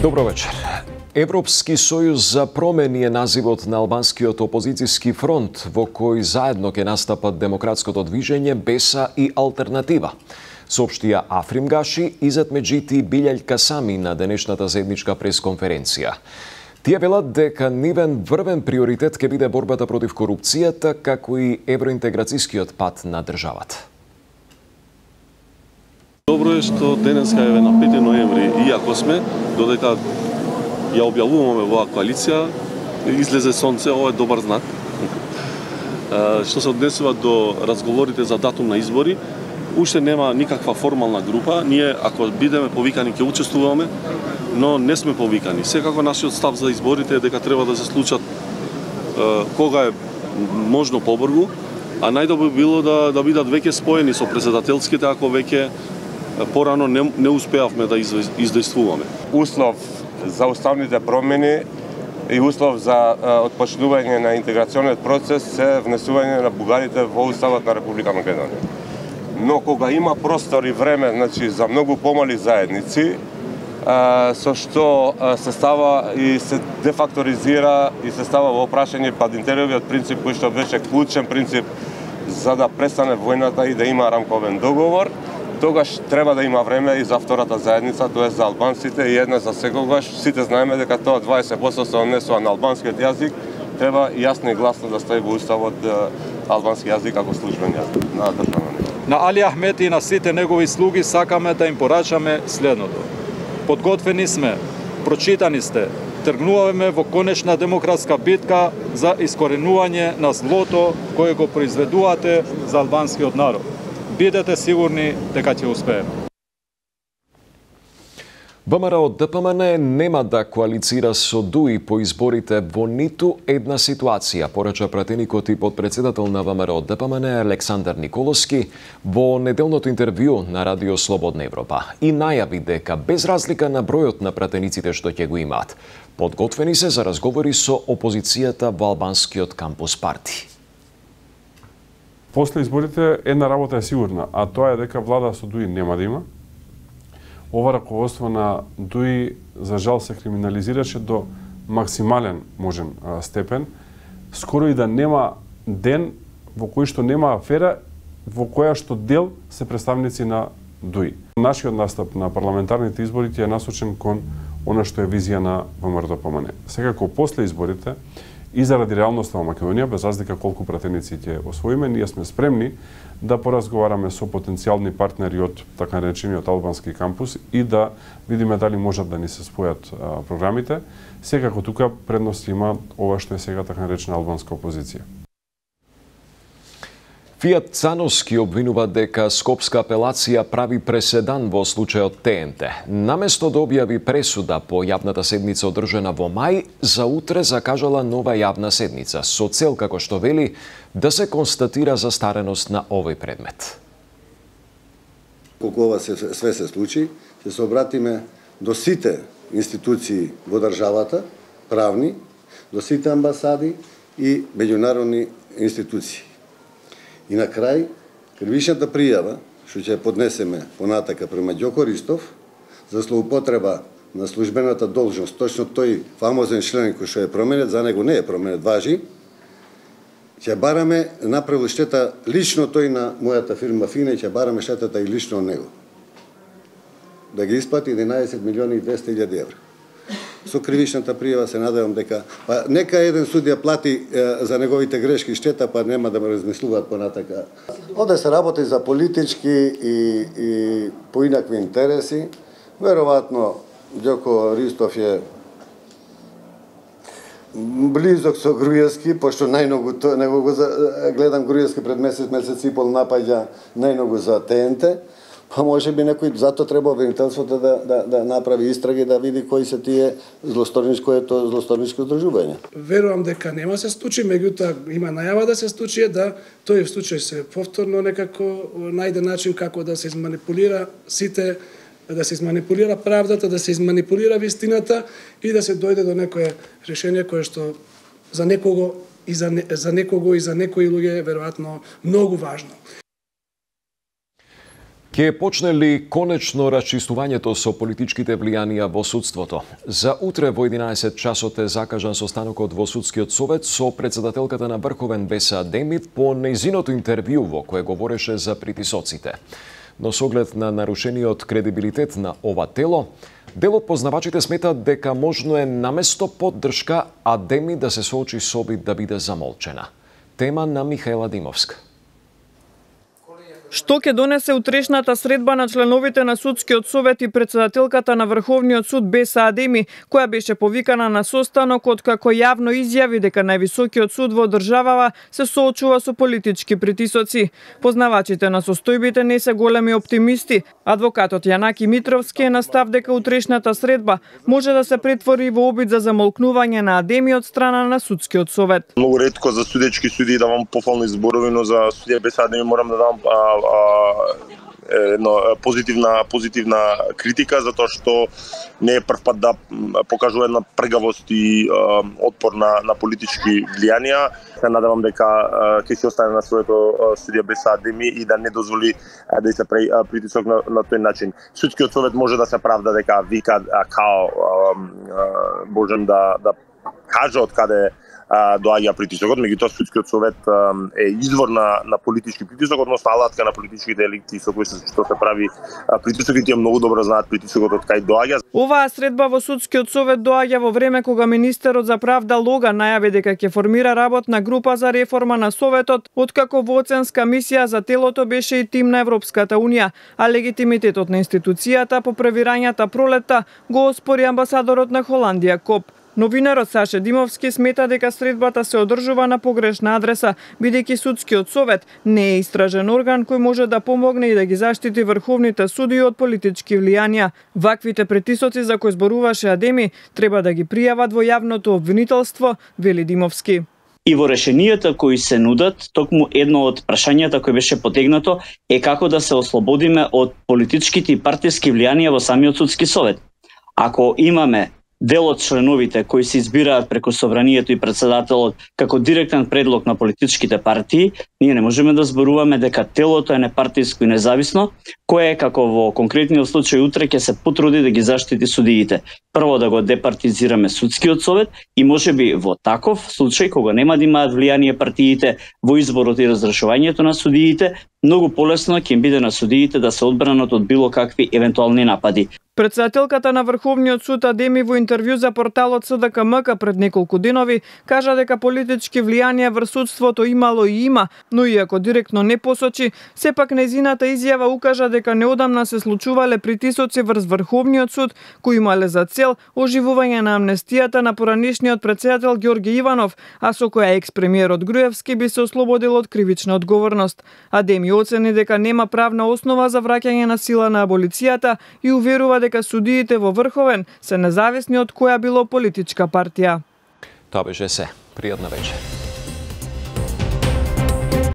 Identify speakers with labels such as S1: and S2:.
S1: Добро вечер. Европски сојуз за промени е називот на албанскиот опозицијски фронт во кој заедно ќе настапат демократското движење БЕСА и Алтернатива. Соопштија Африм Гаши, Изет Меджити и Билјај Касами на денешната заедничка пресконференција. Тие велат дека нивен врвен приоритет ќе биде борбата против корупцијата, како и евроинтеграцијскиот пат на државата.
S2: Добро е што денеска е на 5 ноември, иако сме, додека ја објавуваме оваа коалиција, излезе сонце, ова е добар знак. Што се однесува до разговорите за датум на избори, уште нема никаква формална група. Ние, ако бидеме повикани, ќе учествуваме, но не сме повикани. Секако нашиот став за изборите е дека треба да се случат кога е можно побрзо, а најдобро било да бидат веќе споени со претседателските, ако веќе порано не успеавме да издействуваме.
S3: Услов за уставните промени и услов за отпочнување на интеграционниот процес е внесување на бугарите во Уставот на Република Македонија. Но кога има простор и време, значи за многу помали заедници, со што се става и се дефакторизира и се става во прашање падинтеровиот принцип, кој што беше клучен принцип за да престане војната и да има рамковен договор, тогаш треба да има време и за втората заедница, тоа е за албанците и една за секогаш. Сите знаеме дека тоа 20% се однесува на албанскиот јазик, треба јасно и гласно да стои во уставот албански јазик како службен јазик на државно ниво.
S4: На Али Ахмет и на сите негови слуги сакаме да им порачаме следното. Подготвени сме, прочитани сте, тргнуваме во конечна демократска битка за искоренување на злото кое го произведувате за албанскиот народ. Бидете сигурни дека ќе успееме.
S1: ВМРО ДПМН нема да коалицира со ДУИ по изборите во ниту една ситуација, порача пратеникот и подпредседател на ВМРО ДПМН Александар Николовски во неделното интервју на Радио Слободна Европа и најави дека без разлика на бројот на пратениците што ќе го имаат, подготвени се за разговори со опозицијата во албанскиот кампус парти.
S5: После изборите една работа е сигурна, а тоа е дека влада со ДУИ нема да има. Ова раководство на ДУИ за жал се криминализираше до максимален можен степен. Скоро и да нема ден во кој што нема афера во која што дел се представници на ДУИ. Нашиот настап на парламентарните избори е насочен кон она што е визија на ВМРО ДПМН. Секако после изборите и заради реалноста во Македонија, без разлика колку пратеници ќе освоиме, ние сме спремни да поразговараме со потенцијални партнери од така наречениот албански кампус и да видиме дали можат да ни се спојат програмите. Секако тука предност има ова што е сега така наречена албанска опозиција.
S1: Фијат Цановски обвинува дека Скопска апелација прави преседан во случајот ТНТ. Наместо да објави пресуда по јавната седница одржана во мај, за утре закажала нова јавна седница, со цел, како што вели, да се констатира застареност на овој предмет.
S6: Колку ова све се случи, ќе се обратиме до сите институции во државата, правни, до сите амбасади и меѓународни институции. И на крај, кривичната пријава, што ќе поднесеме понатака према Ѓоко Ристов, за злоупотреба на службената должност, точно тој фамозен член кој што е променет, за него не е променет, важи, ќе бараме направил штета лично тој на мојата фирма Фина и ќе бараме штетата и лично од него. Да ги исплати 11 милиони и 200 илјади евра. Со кривичната пријава се надевам дека нека еден судија плати за неговите грешки штета, па нема да ме размислуваат понатака. Оде се работи за политички и поинакви интереси. Веројатно Ѓоко Ристов е близок со Груевски, пошто најмногу него го гледам Груевски пред месец и пол напаѓа најмногу за ТНТ. Па може би некој, зато треба обвинителството да направи истраги, да види кои се тие злосторничко здружување.
S7: Верувам дека нема се случи, меѓутоа има најава да се случи, да тој в случај се повторно некако најде начин како да се изманипулира сите, да се изманипулира правдата, да се изманипулира вистината и да се дојде до некое решение кое што за некого и за некои луѓе е веројатно многу важно.
S1: Ке почне ли конечно расчистувањето со политичките влијанија во судството? За утре во 11 часот е закажан состанокот во Судскиот совет со председателката на Врховен Веса Демид по нејзиното интервју во кое говореше за притисоците. Но со оглед на нарушениот кредибилитет на ова тело, дел од познавачите сметат дека можно е наместо поддршка, а Демид да се соочи со обид да биде замолчена. Тема на Михаела Димовска.
S8: Што ќе донесе утрешната средба на членовите на Судскиот совет и председателката на Врховниот суд Беса Адеми, која беше повикана на состанок откако јавно изјави дека највисокиот суд во државава се соочува со политички притисоци. Познавачите на состојбите не се големи оптимисти. Адвокатот Јанаки Митровски е на став дека утрешната средба може да се претвори во обид за замолкнување на Адеми од страна на Судскиот совет.
S9: Многу ретко за судечки суди давам пофални зборови, но за судија Беса Адеми морам да дам позитивна критика, затоа што не е прв пат да покажува една пргавост и отпор на политички влијанија. Се надевам дека ќе се остане на своето судија Беса Адеми и да не дозволи да се прави притисок на тој начин. Судскиот совет може да се правда дека вика као можем да каже од каде доаѓа притисокот, меѓутоа Судскиот совет е извор на политички притисок, односно алатка на политичките елити со кои што се прави притисок и тие многу добро знаат притисокот од кај доаѓа.
S8: Оваа средба во Судскиот совет доаѓа во време кога министерот за правда Лога најави дека ќе формира работна група за реформа на советот, откако во оценска мисија за телото беше и тим на Европската унија, а легитимитетот на институцијата по превирањата пролетта го оспори амбасадорот на Холандија Коп. Новинарот Саше Димовски смета дека средбата се одржува на погрешна адреса, бидејќи Судскиот совет не е истражен орган кој може да помогне и да ги заштити врховните судии од политички влијанија. Ваквите притисоци за кои зборуваше Адеми треба да ги пријават во јавното обвинителство, вели Димовски.
S10: И во решенијата кои се нудат, токму едно од прашањата кој беше потегнато е како да се ослободиме од политичките и партиски влијанија во самиот Судски совет. Ако имаме дел од членовите кои се избираат преку собранието и председателот како директен предлог на политичките партии, ние не можеме да зборуваме дека телото е непартиско и независно, кое како во конкретниот случај утре ќе се потруди да ги заштити судиите. Прво да го департизираме Судскиот совет и можеби во таков случај кога нема да имаат влијание партиите во изборот и разрешувањето на судиите, многу полесно ќе им биде на судиите да се одбранат од било какви евентуални напади.
S8: Председателката на Врховниот суд Адеми во интервју за порталот СДКМК пред неколку денови кажа дека политички влијанија врз судството имало и има, но иако директно не посочи, сепак нејзината изјава укажа дека неодамна се случувале притисоци врз Врховниот суд кои имале за цел оживување на амнестијата на поранешниот председател Ѓорги Иванов, а со која екс-премиерот Груевски би се ослободил од кривична одговорност. Адеми оцени дека нема правна основа за враќање на сила на аболицијата и уверува дека судиите во Врховен се независни од која било политичка партија.
S1: Тоа беше се. Пријатна вечер.